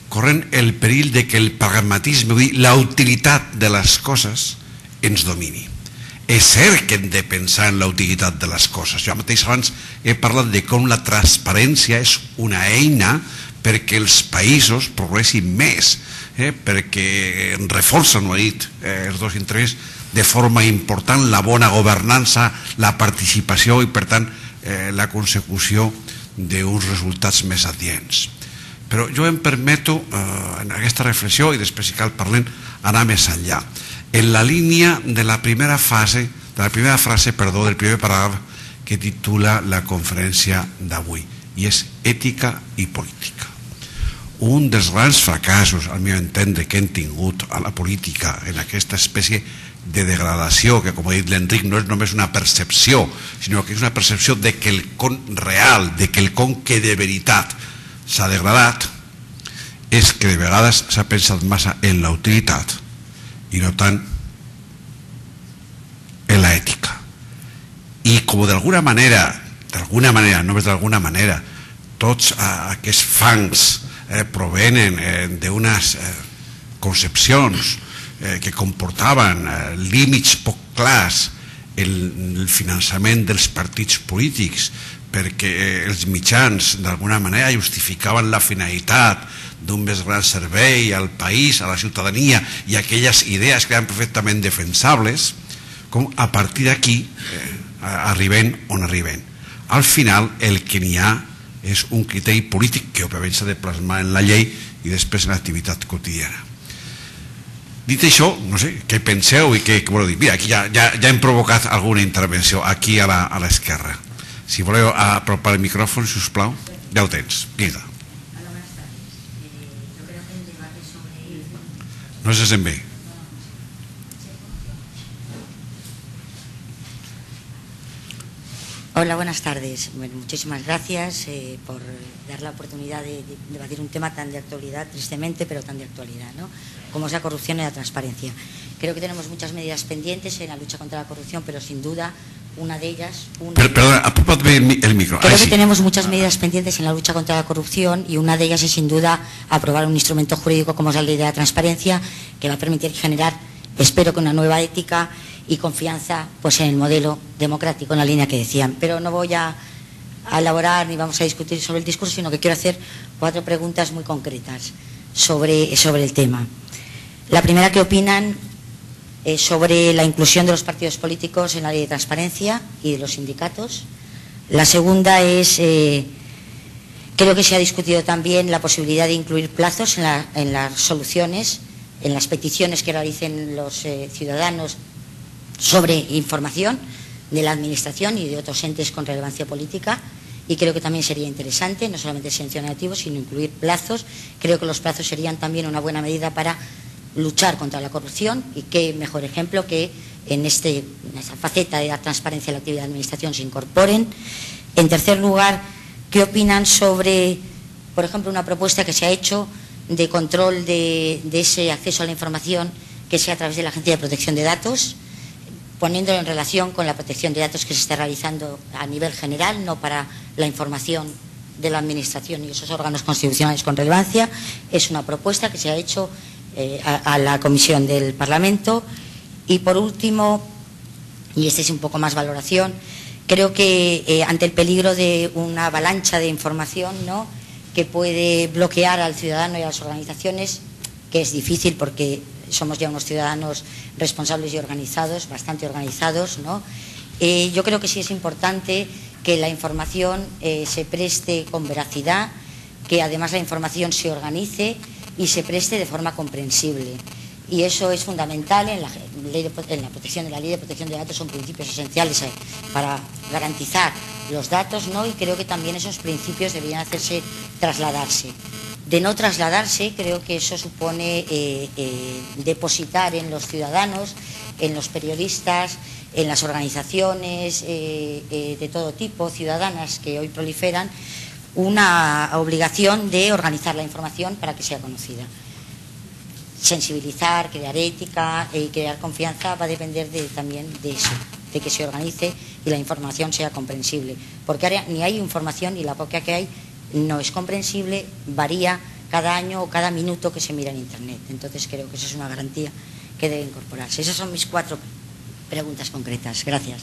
corren el perill de que el pragmatisme, vull dir, la utilitat de les coses, ens domini. És cert que hem de pensar en la utilitat de les coses. Jo mateix abans he parlat de com la transparència és una eina perquè els països progressin més, eh, perquè reforcen, ho ha dit eh, els dos intervents, de forma important la bona governança, la participació i per tant eh, la consecució d'uns resultats més adients. Però jo em permeto eh, en aquesta reflexió, i després si cal parlem, anar més enllà. En la línia de la primera fase, de la primera frase, perdó, del primer paràgraf que titula la conferència d'avui, i és ètica i política. Un dels grans fracassos, al meu entendre, que hem tingut a la política en aquesta espècie de degradació, que com ha dit l'Enric no és només una percepció, sinó que és una percepció de que el con real, de que el con que de veritat s'ha degradat, és que de vegades s'ha pensat massa en la utilitat i no tant en la ètica. I com d'alguna manera, d'alguna manera, només d'alguna manera, tots aquests fangs eh, provenen eh, d'unes eh, concepcions eh, que comportaven eh, límits poc clars en el finançament dels partits polítics, perquè eh, els mitjans d'alguna manera justificaven la finalitat d'un més gran servei al país, a la ciutadania, i aquelles idees que eren perfectament defensables, com a partir d'aquí eh, arriben on arriben. Al final el que n'hi ha és un criteri polític que òbviament s'ha de plasmar en la llei i després en l'activitat quotidiana. Dit això, no sé, què penseu i què voleu dir? Mira, aquí ja, ja, ja hem provocat alguna intervenció aquí a l'esquerra. Si voleu apropar el micròfon, si us plau, ja ho tens. Vinga. No se sent bé. Hola, buenas tardes. Bueno, muchísimas gracias eh, por dar la oportunidad de, de debatir un tema tan de actualidad, tristemente, pero tan de actualidad, ¿no? Como es la corrupción y la transparencia. Creo que tenemos muchas medidas pendientes en la lucha contra la corrupción, pero sin duda una de ellas... Una... Pero, perdón, apúrate el micro. Creo Ay, que sí. tenemos muchas medidas pendientes en la lucha contra la corrupción y una de ellas es sin duda aprobar un instrumento jurídico como es la ley de la transparencia, que va a permitir generar, espero que una nueva ética y confianza pues en el modelo democrático, en la línea que decían. Pero no voy a, a elaborar ni vamos a discutir sobre el discurso, sino que quiero hacer cuatro preguntas muy concretas sobre, sobre el tema. La primera, ¿qué opinan eh, sobre la inclusión de los partidos políticos en la ley de transparencia y de los sindicatos? La segunda es, eh, creo que se ha discutido también la posibilidad de incluir plazos en, la, en las soluciones, en las peticiones que realicen los eh, ciudadanos sobre información, de la Administración y de otros entes con relevancia política, y creo que también sería interesante, no solamente el silencio negativo, sino incluir plazos. Creo que los plazos serían también una buena medida para luchar contra la corrupción, y qué mejor ejemplo que en, este, en esa faceta de la transparencia de la actividad de la Administración se incorporen. En tercer lugar, ¿qué opinan sobre, por ejemplo, una propuesta que se ha hecho de control de, de ese acceso a la información que sea a través de la Agencia de Protección de Datos, poniéndolo en relación con la protección de datos que se está realizando a nivel general, no para la información de la Administración y esos órganos constitucionales con relevancia? Es una propuesta que se ha hecho eh, a, a la Comisión del Parlamento. Y por último, y este es un poco más valoración, creo que eh, ante el peligro de una avalancha de información, ¿no?, que puede bloquear al ciudadano y a las organizaciones, que es difícil porque somos ya unos ciudadanos responsables y organizados, bastante organizados, ¿no? Eh, yo creo que sí es importante que la información eh, se preste con veracidad, que además la información se organice y se preste de forma comprensible. Y eso es fundamental en la, ley de, en la protección de la Ley de Protección de Datos, son principios esenciales eh, para garantizar los datos, ¿no? Y creo que también esos principios deberían hacerse trasladarse. De no trasladarse, creo que eso supone eh, eh, depositar en los ciudadanos, en los periodistas, en las organizaciones eh, eh, de todo tipo, ciudadanas que hoy proliferan, una obligación de organizar la información para que sea conocida. Sensibilizar, crear ética y crear confianza va a depender de, también de eso, de que se organice y la información sea comprensible. Porque ahora ni hay información y la poca que hay no es comprensible, varía cada año o cada minuto que se mira en Internet. Entonces creo que esa es una garantía que debe incorporarse. Esas son mis cuatro preguntas concretas. Gracias.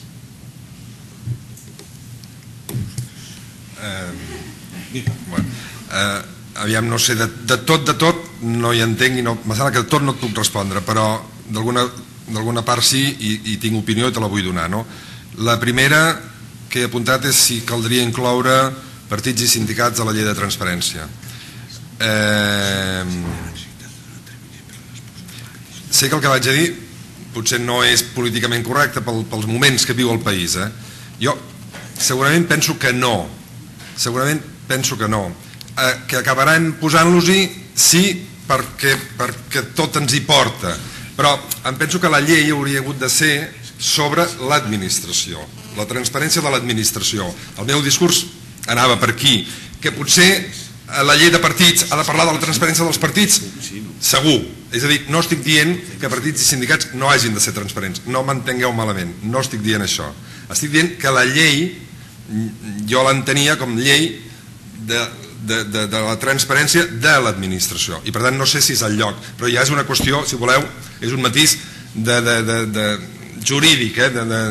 Eh, bueno, eh, aviam, no sé, de, de tot, de tot no hi entenc i no, me sembla que de tot no et puc respondre, però d'alguna part sí i, i tinc opinió i te la vull donar, no? La primera que he apuntat és si caldria incloure partits i sindicats a la llei de transparència. Eh, sé que el que vaig a dir potser no és políticament correcte pel, pels moments que viu el país, eh? Jo segurament penso que no, segurament penso que no, eh, que acabaran posant-los-hi sí perquè, perquè tot ens hi porta, però em penso que la llei hauria hagut de ser sobre l'administració, la transparència de l'administració. El meu discurs anava per aquí, que potser la llei de partits ha de parlar de la transparència dels partits, segur. És a dir, no estic dient que partits i sindicats no hagin de ser transparents, no m'entengueu malament, no estic dient això. Estic dient que la llei, jo l'entenia com llei de, de, de, de la transparència de l'administració, i per tant no sé si és el lloc, però ja és una qüestió, si voleu, és un matís de, de, de, de jurídic, eh? de, de,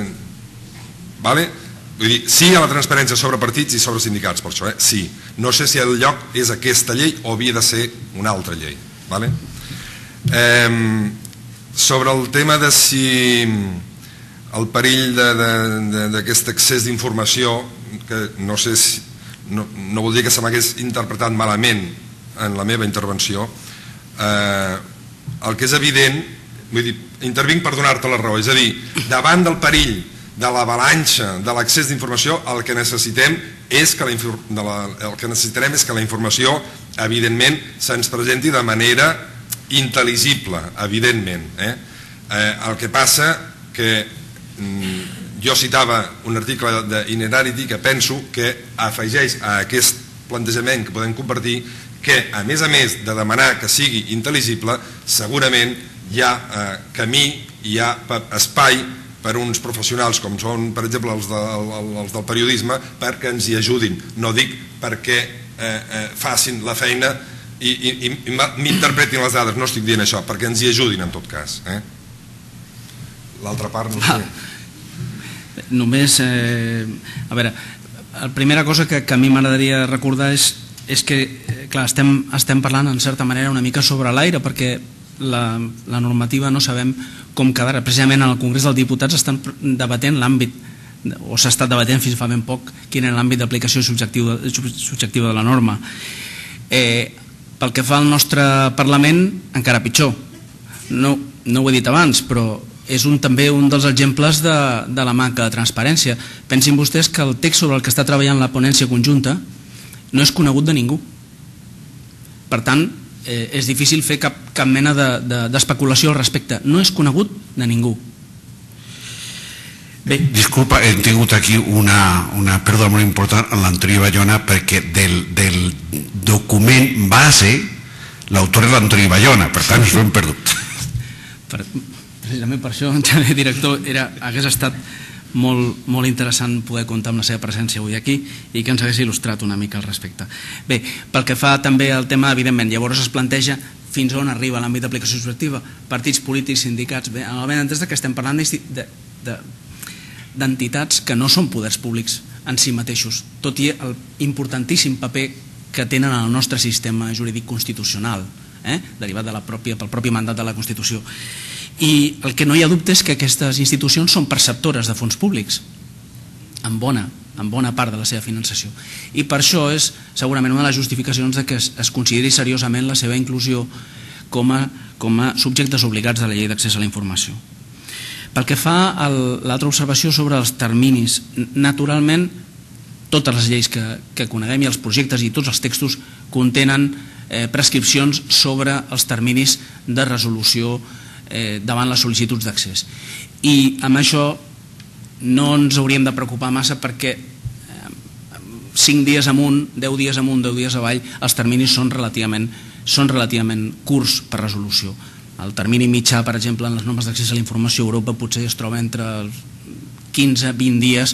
vale? Vull dir, sí a la transparència sobre partits i sobre sindicats, per això, eh? Sí. No sé si el lloc és aquesta llei o havia de ser una altra llei. Vale? Eh, sobre el tema de si el perill d'aquest excés d'informació, que no sé si, no, no vol dir que se m'hagués interpretat malament en la meva intervenció, eh, el que és evident, vull dir, intervinc per donar-te la raó, és a dir, davant del perill de l'avalanxa, de l'accés d'informació, el que necessitem és que la, la, el que necessitarem és que la informació, evidentment, se'ns presenti de manera intel·ligible, evidentment. Eh? Eh, el que passa que mm, jo citava un article d'Inerarity que penso que afegeix a aquest plantejament que podem compartir que, a més a més de demanar que sigui intel·ligible, segurament hi ha eh, camí, hi ha espai per uns professionals com són, per exemple, els, de, els del periodisme, perquè ens hi ajudin. No dic perquè eh, eh, facin la feina i, i, i m'interpretin les dades, no estic dient això, perquè ens hi ajudin en tot cas. Eh? L'altra part no sé. Ah, només, eh, a veure, la primera cosa que, que a mi m'agradaria recordar és, és que, clar, estem, estem parlant en certa manera una mica sobre l'aire, perquè la, la normativa no sabem com quedarà. Precisament en el Congrés dels Diputats estan debatent l'àmbit, o s'ha estat debatent fins fa ben poc, quin és l'àmbit d'aplicació subjectiva, subjectiva de la norma. Eh, pel que fa al nostre Parlament, encara pitjor. No, no ho he dit abans, però és un, també un dels exemples de, de la manca de transparència. Pensin vostès que el text sobre el que està treballant la ponència conjunta no és conegut de ningú. Per tant, eh, és difícil fer cap, cap mena d'especulació de, de, al respecte. No és conegut de ningú. Bé. Disculpa, he tingut aquí una, una pèrdua molt important en l'Antoni Bayona, perquè del, del document base l'autor és l'Antoni Bayona, per tant ens ho hem perdut. Per, precisament per això, director, era, hagués estat molt, molt interessant poder comptar amb la seva presència avui aquí i que ens hagués il·lustrat una mica al respecte. Bé, pel que fa també al tema, evidentment, llavors es planteja fins on arriba l'àmbit d'aplicació subjectiva, partits polítics, sindicats, bé, en el benentès que estem parlant de, de, d'entitats que no són poders públics en si mateixos, tot i el importantíssim paper que tenen en el nostre sistema jurídic constitucional, eh? derivat de la pròpia, pel propi mandat de la Constitució. I el que no hi ha dubte és que aquestes institucions són perceptores de fons públics, en bona, en bona part de la seva finançació. I per això és segurament una de les justificacions de que es, es consideri seriosament la seva inclusió com a, com a subjectes obligats de la llei d'accés a la informació. Pel que fa a l'altra observació sobre els terminis, naturalment totes les lleis que, que coneguem i els projectes i tots els textos contenen eh, prescripcions sobre els terminis de resolució eh, davant les sol·licituds d'accés. I amb això no ens hauríem de preocupar massa perquè eh, cinc dies amunt, deu dies amunt, deu dies avall, els terminis són relativament, són relativament curts per resolució. El termini mitjà, per exemple, en les normes d'accés a la informació a Europa potser es troba entre quinze a vint dies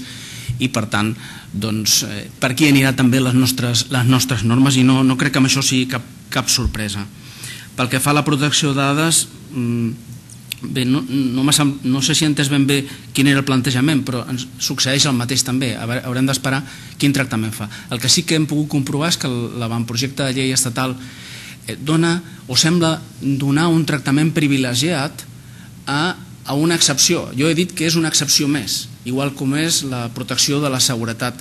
i, per tant, doncs, eh, per aquí anirà també les nostres, les nostres normes i no, no crec que amb això sigui cap, cap sorpresa. Pel que fa a la protecció de dades, bé, no, no, no sé si he entès ben bé quin era el plantejament, però ens succeeix el mateix també. Haurem d'esperar quin tractament fa. El que sí que hem pogut comprovar és que l'avantprojecte de llei estatal dona o sembla donar un tractament privilegiat a, a una excepció. Jo he dit que és una excepció més, igual com és la protecció de la seguretat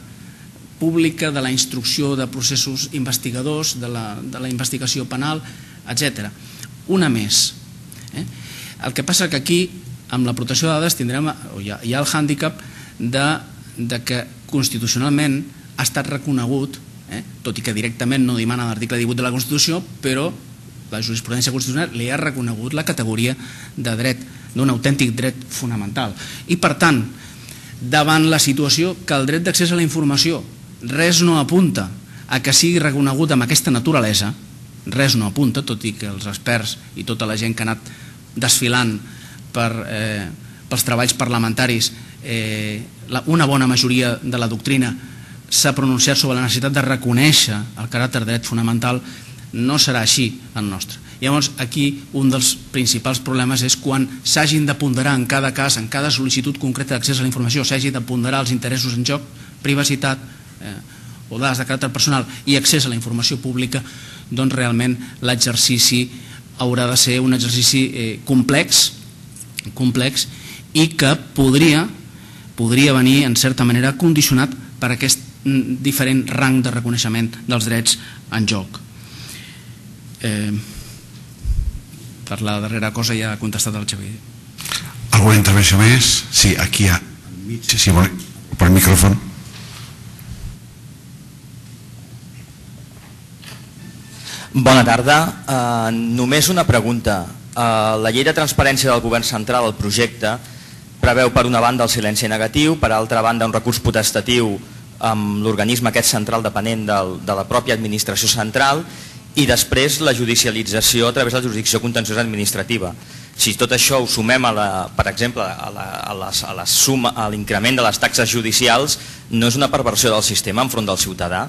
pública, de la instrucció de processos investigadors, de la, de la investigació penal, etcètera. Una més. Eh? El que passa que aquí, amb la protecció de dades, tindrem, o hi ha, hi ha el hàndicap de, de que constitucionalment ha estat reconegut, Eh? tot i que directament no dimana l'article divuit de la Constitució, però la jurisprudència constitucional li ha reconegut la categoria de dret, d'un autèntic dret fonamental. I per tant, davant la situació que el dret d'accés a la informació res no apunta a que sigui reconegut amb aquesta naturalesa, res no apunta, tot i que els experts i tota la gent que ha anat desfilant per, eh, pels treballs parlamentaris, eh, la, una bona majoria de la doctrina s'ha pronunciat sobre la necessitat de reconèixer el caràcter de dret fonamental, no serà així el nostre. Llavors, aquí un dels principals problemes és quan s'hagin de ponderar en cada cas, en cada sol·licitud concreta d'accés a la informació, s'hagi de ponderar els interessos en joc, privacitat eh, o dades de caràcter personal i accés a la informació pública, doncs realment l'exercici haurà de ser un exercici eh, complex, complex i que podria, podria venir en certa manera condicionat per aquest diferent rang de reconeixement dels drets en joc. Eh, per la darrera cosa ja ha contestat el Xavier. Alguna intervenció més? Sí, aquí hi ha... Sí, sí, per el micròfon. Bona tarda. Uh, només una pregunta. Uh, la llei de transparència del govern central, el projecte, preveu per una banda el silenci negatiu, per altra banda un recurs potestatiu amb l'organisme aquest central depenent del, de la pròpia administració central i després la judicialització a través de la jurisdicció contenciosa administrativa. Si tot això ho sumem, a la, per exemple, a la, a les, a la suma, a l'increment de les taxes judicials, no és una perversió del sistema enfront del ciutadà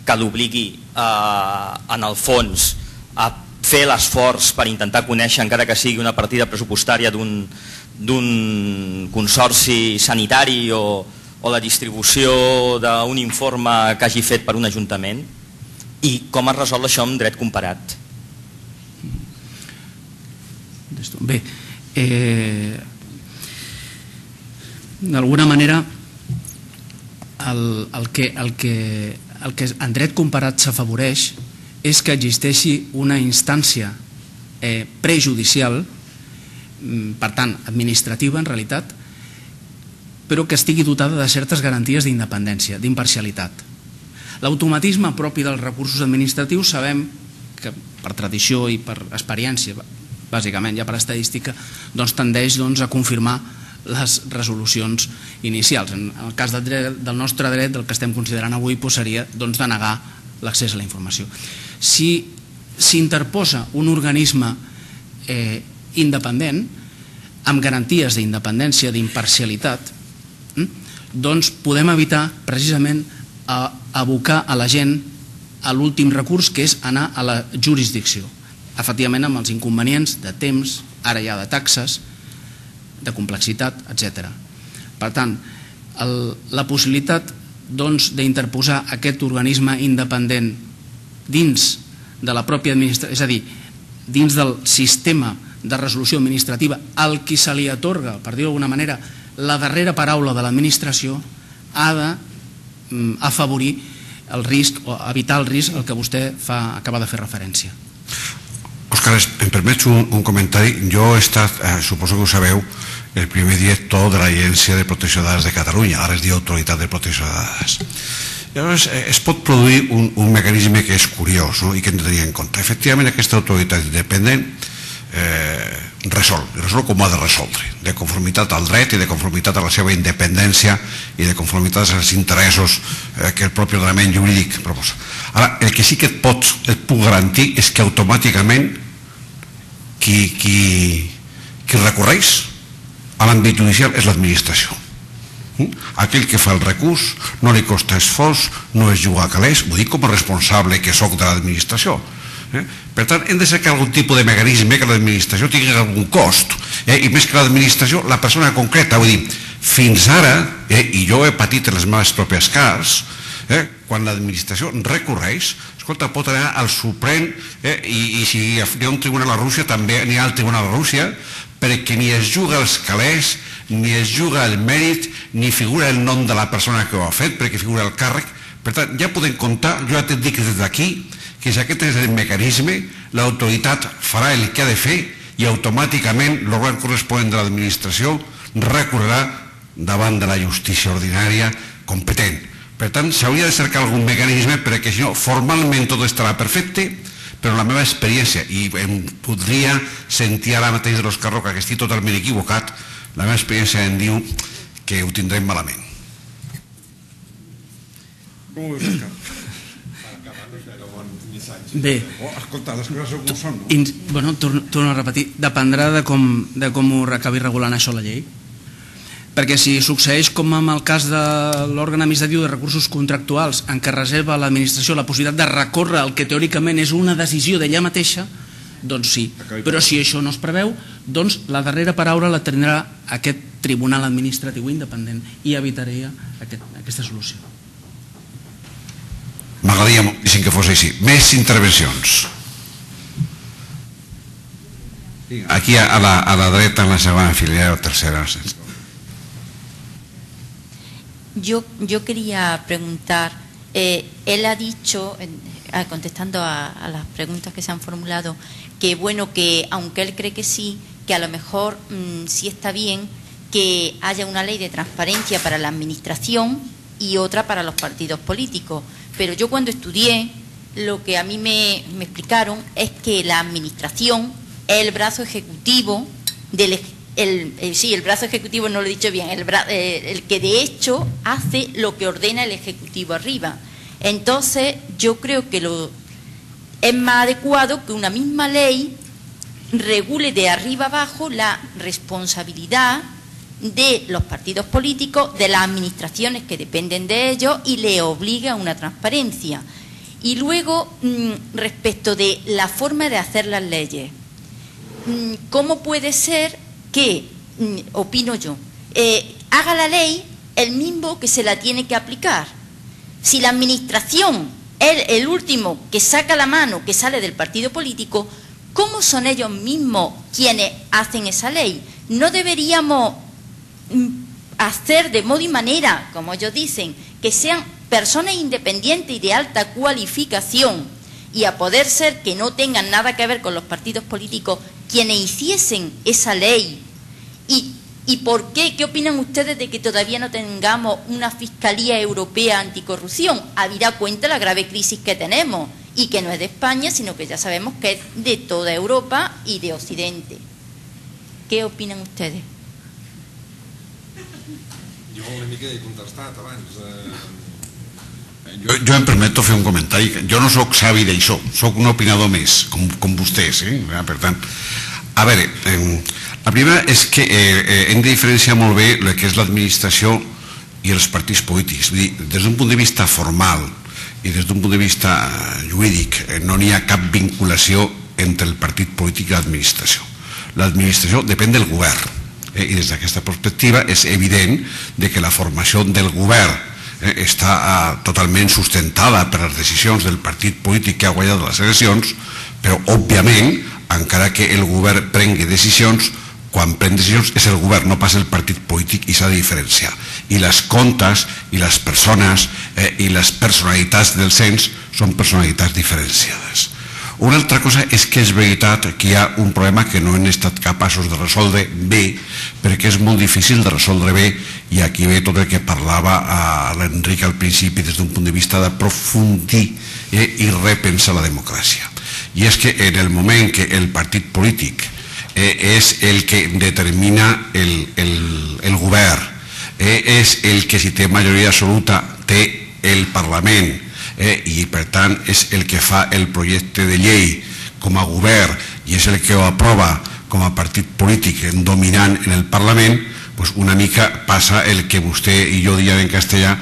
que l'obligui eh, en el fons a fer l'esforç per intentar conèixer, encara que sigui una partida pressupostària d'un d'un consorci sanitari o o la distribució d'un informe que hagi fet per un ajuntament i com es resol això amb dret comparat? Bé, eh, d'alguna manera el, el, que, el, que, el que en dret comparat s'afavoreix és que existeixi una instància eh, prejudicial per tant, administrativa en realitat, però que estigui dotada de certes garanties d'independència, d'imparcialitat. L'automatisme propi dels recursos administratius sabem que per tradició i per experiència, bàsicament ja per estadística, doncs tendeix a confirmar les resolucions inicials. En el cas del nostre dret, del que estem considerant avui, seria denegar l'accés a la informació. Si s'interposa un organisme independent, amb garanties d'independència, d'imparcialitat, doncs podem evitar precisament abocar a la gent a l'últim recurs, que és anar a la jurisdicció, efectivament amb els inconvenients de temps, ara ja de taxes, de complexitat, etcètera. Per tant, la possibilitat d'interposar aquest organisme independent dins de la pròpia administració, és a dir, dins del sistema de resolució administrativa al qui se li atorga, per dir-ho d'alguna manera, la darrera paraula de l'administració, ha d'afavorir el risc o evitar el risc al que vostè acaba de fer referència. Òscar, em permets un comentari? Jo he estat, suposo que ho sabeu, el primer director de l'Agència de Protecció de Dades de Catalunya, ara es diu Autoritat de Protecció de Dades. Llavors es pot produir un mecanisme que és curiós i que hem de tenir en compte. Efectivament, aquesta autoritat independent resol, resol com ha de resoldre, de conformitat al dret i de conformitat a la seva independència i de conformitat als interessos que el propi ordenament jurídic proposa. Ara, el que sí que et puc garantir és que automàticament qui recorreix a l'àmbit judicial és l'administració. Aquell que fa el recurs no li costa esforç, no es juga a calés, ho dic com a responsable que soc de l'administració. Per tant, hem de cercar algun tipus de mecanisme que l'administració tingui algun cost, i més que l'administració, la persona concreta. Vull dir, fins ara, i jo he patit en les meves pròpies cars, quan l'administració recorreix, escolta, pot anar al Suprem, i si hi ha un tribunal a Rússia també n'hi ha al tribunal a Rússia, perquè ni es juga els calés, ni es juga el mèrit, ni figura el nom de la persona que ho ha fet, perquè figura el càrrec. Per tant, ja podem comptar, jo ja t'he dit des d'aquí, que si aquest és el mecanisme, l'autoritat farà el que ha de fer i automàticament l'òrgan corresponent de l'administració recorrerà davant de la justícia ordinària competent. Per tant, s'hauria de cercar algun mecanisme perquè, si no, formalment tot estarà perfecte, però la meva experiència, i em podria sentir ara mateix de l'Òscar Roca que estic totalment equivocat, la meva experiència em diu que ho tindrem malament. Bé, escolta, les coses com són, no? Bueno, torno a repetir, dependrà de com ho acabi regulant això la llei, perquè si succeeix com en el cas de l'òrgan administratiu de recursos contractuals en què reserva a l'administració la possibilitat de recórrer el que teòricament és una decisió d'ella mateixa, doncs sí, però si això no es preveu, doncs la darrera paraula la tindrà aquest tribunal administratiu independent i evitaria aquesta solució. M'agradaria moltíssim que fos així. Més intervencions. Aquí a la, a la dreta, en la segona fila, o tercera. Yo, yo quería preguntar, eh, él ha dicho, eh, contestando a, a las preguntas que se han formulado, que bueno, que aunque él cree que sí, que a lo mejor mmm, sí está bien que haya una ley de transparencia para la administración y otra para los partidos políticos. Pero yo cuando estudié, lo que a mí me, me explicaron es que la administración es el brazo ejecutivo del el, el, sí, el brazo ejecutivo, no lo he dicho bien, el, bra, eh, el que de hecho hace lo que ordena el ejecutivo arriba. Entonces yo creo que lo, es más adecuado que una misma ley regule de arriba abajo la responsabilidad de los partidos políticos, de las administraciones que dependen de ellos y le obliga a una transparencia. Y luego, respecto de la forma de hacer las leyes, ¿cómo puede ser que, opino yo, eh, haga la ley el mismo que se la tiene que aplicar? Si la administración es el último que saca la mano, que sale del partido político, ¿cómo son ellos mismos quienes hacen esa ley? ¿No deberíamos hacer de modo y manera, como ellos dicen, que sean personas independientes y de alta cualificación y a poder ser que no tengan nada que ver con los partidos políticos quienes hiciesen esa ley. ¿Y, y por qué? ¿Qué opinan ustedes de que todavía no tengamos una Fiscalía Europea Anticorrupción? Habida cuenta la grave crisis que tenemos y que no es de España, sino que ya sabemos que es de toda Europa y de Occidente. ¿Qué opinan ustedes? Jo una mica he contestat abans. Eh... Jo, jo em permeto fer un comentari. Jo no sóc savi d'això, sóc un opinador més, com, com vostès. Eh? Per tant, a veure, eh, la primera és que eh, hem de diferenciar molt bé el que és l'administració i els partits polítics. Vull dir, des d'un punt de vista formal i des d'un punt de vista jurídic no n'hi ha cap vinculació entre el partit polític i l'administració. L'administració depèn del govern eh, i des d'aquesta perspectiva és evident de que la formació del govern eh, està eh, totalment sustentada per les decisions del partit polític que ha guanyat les eleccions, però òbviament encara que el govern prengui decisions, quan pren decisions és el govern, no pas el partit polític, i s'ha de diferenciar. I les comptes i les persones eh, i les personalitats del cens són personalitats diferenciades. Una altra cosa és que és veritat que hi ha un problema que no hem estat capaços de resoldre bé, perquè és molt difícil de resoldre bé, i aquí ve tot el que parlava l'Enric al principi des d'un punt de vista d'aprofundir eh, i repensar la democràcia. I és que en el moment que el partit polític eh, és el que determina el, el, el govern, eh, és el que si té majoria absoluta té el Parlament, eh, i per tant és el que fa el projecte de llei com a govern i és el que ho aprova com a partit polític dominant en el Parlament, pues una mica passa el que vostè i jo diem en castellà,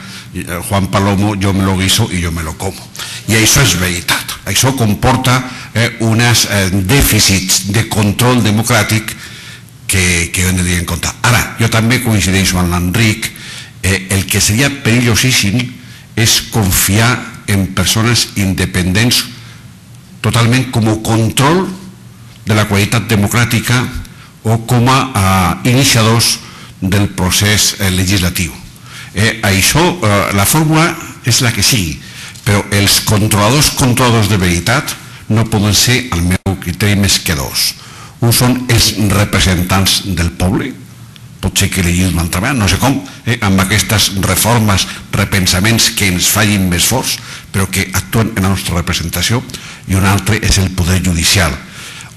Juan Palomo, yo me lo guiso y yo me lo como. I això és veritat. Això comporta eh, uns eh, dèficits de control democràtic que, que hem de tenir en compte. Ara, jo també coincideixo amb l'Enric, eh, el que seria perillosíssim és confiar en persones independents totalment com a control de la qualitat democràtica o com a eh, iniciadors del procés eh, legislatiu. Eh, això, eh, la fórmula és la que sigui, però els controladors controladors de veritat no poden ser, al meu criteri, més que dos. Un són els representants del poble, pot ser que elegim una altra vegada, no sé com, eh, amb aquestes reformes, repensaments que ens fallin més forts, però que actuen en la nostra representació, i un altre és el poder judicial.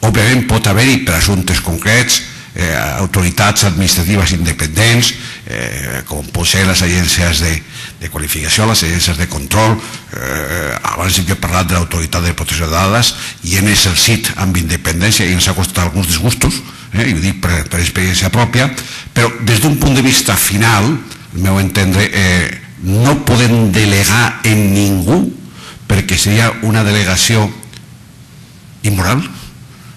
Òbviament pot haver-hi per assumptes concrets Eh, autoritats administratives independents, eh, com pot ser les agències de, de qualificació, les agències de control. Eh, abans jo he parlat de l'autoritat de protecció de dades i hem exercit amb independència i ens ha costat alguns disgustos, eh, i ho dic per, per experiència pròpia, però des d'un punt de vista final, al meu entendre, eh, no podem delegar en ningú perquè seria una delegació immoral.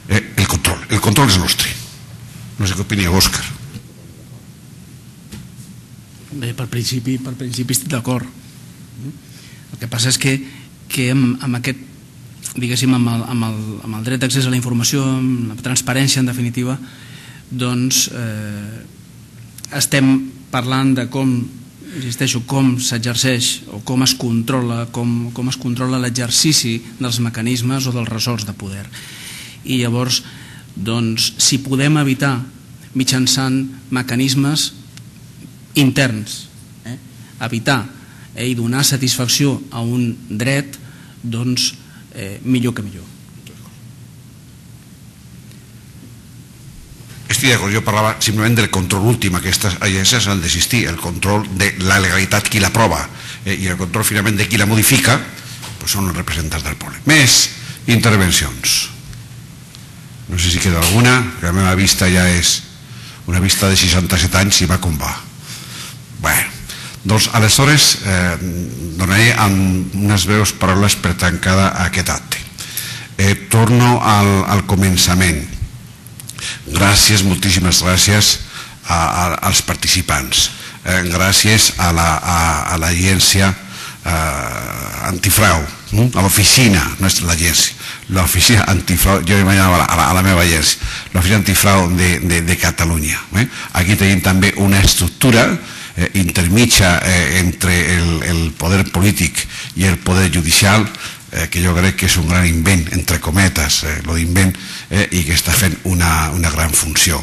Eh, el control, el control és nostre. No sé què opinió, Òscar. Bé, per principi, per principi estic d'acord. El que passa és que, que amb, amb aquest, diguéssim, amb el, amb, el, amb el dret d'accés a la informació, amb la transparència, en definitiva, doncs eh, estem parlant de com, insisteixo, com s'exerceix o com es controla, com, com es controla l'exercici dels mecanismes o dels ressorts de poder. I llavors, doncs, si podem evitar mitjançant mecanismes interns, eh, evitar eh, i donar satisfacció a un dret, doncs eh, millor que millor. Estic d'acord, jo parlava simplement del control últim. Aquestes agències han d'existir, el control de la legalitat, qui l'aprova, eh, i el control finalment de qui la modifica, pues són els representants del poble. Més intervencions. No sé si queda alguna, que la meva vista ja és una vista de seixanta-set anys i va com va. Bé, doncs aleshores eh, donaré amb unes breus paraules per tancada aquest acte. Eh, torno al, al començament. Gràcies, moltíssimes gràcies a, a, als participants. Eh, gràcies a l'agència eh, antifrau, a l'oficina, no és l'agència, l'oficina antifrau, jo imaginava a la, a la meva agència, l'oficina antifrau de, de, de Catalunya. Eh? Aquí tenim també una estructura eh, intermitja eh, entre el, el poder polític i el poder judicial, eh, que jo crec que és un gran invent, entre cometes, eh, lo d'invent, eh, i que està fent una, una gran funció.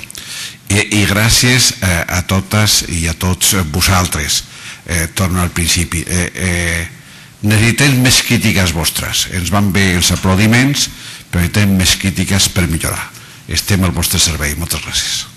I, i gràcies eh, a totes i a tots vosaltres. Eh, torno al principi. Eh, eh, necessitem més crítiques vostres. Ens van bé els aplaudiments, però necessitem més crítiques per millorar. Estem al vostre servei. Moltes gràcies.